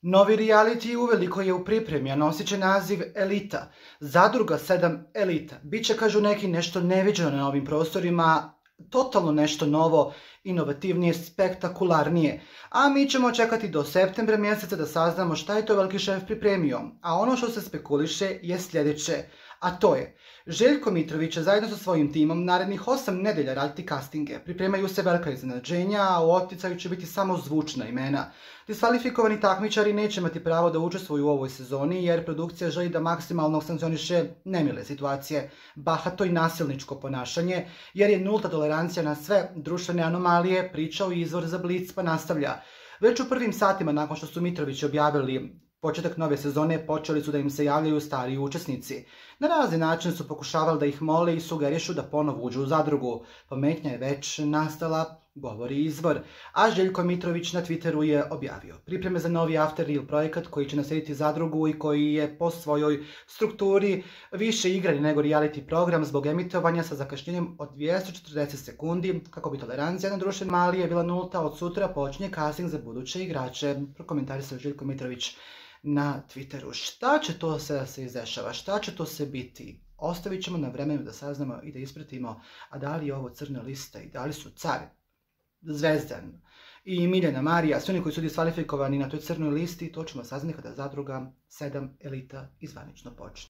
Novi reality uveliko je u pripremi, a nosit će naziv Elita. Zadruga 7 Elita. Biće, kažu neki, nešto neviđeno na ovim prostorima, totalno nešto novo, inovativnije, spektakularnije. A mi ćemo čekati do septembra mjeseca da saznamo šta je to veliki šef pripremio. A ono što se spekuliše je sljedeće, a to je: Željko Mitrović će zajedno sa svojim timom narednih 8 nedelja raditi castinge. Pripremaju se velika iznenađenja, a u opticaju će biti samo zvučna imena. Diskvalifikovani takmičari neće imati pravo da učestvuju u ovoj sezoni, jer produkcija želi da maksimalno sankcioniše nemile situacije, bahato i nasilničko ponašanje, jer je nulta tolerancija na sve društvene anomalije, pričao izvor za Blic, pa nastavlja. Već u prvim satima nakon što su Mitrovići objavili početak nove sezone, počeli su da im se javljaju stariji učesnici. Na razni način su pokušavali da ih mole i sugerišu da ponovo uđu u zadrugu. Pometnja je već nastala, govori izvor. A Željko Mitrović na Twitteru je objavio pripreme za novi After Real projekat koji će naslijediti zadrugu i koji je po svojoj strukturi više igrani nego reality program zbog emitovanja sa zakašnjenjem od 240 sekundi, kako bi tolerancija na društvene anomalije bila nulta. Od sutra počinje casting za buduće igrače, prokomentarisao Željko Mitrović na Twitteru. Šta će to se izdešava? Šta će to se biti? Ostavit ćemo na vremenu da saznamo i da ispratimo. A da li je ovo crna lista i da li su Car, Zvezdan i Miljana Marija, svi oni koji su diskvalifikovani na toj crnoj listi, to ćemo saznati kada Zadruga 7 Elita izvanično počne.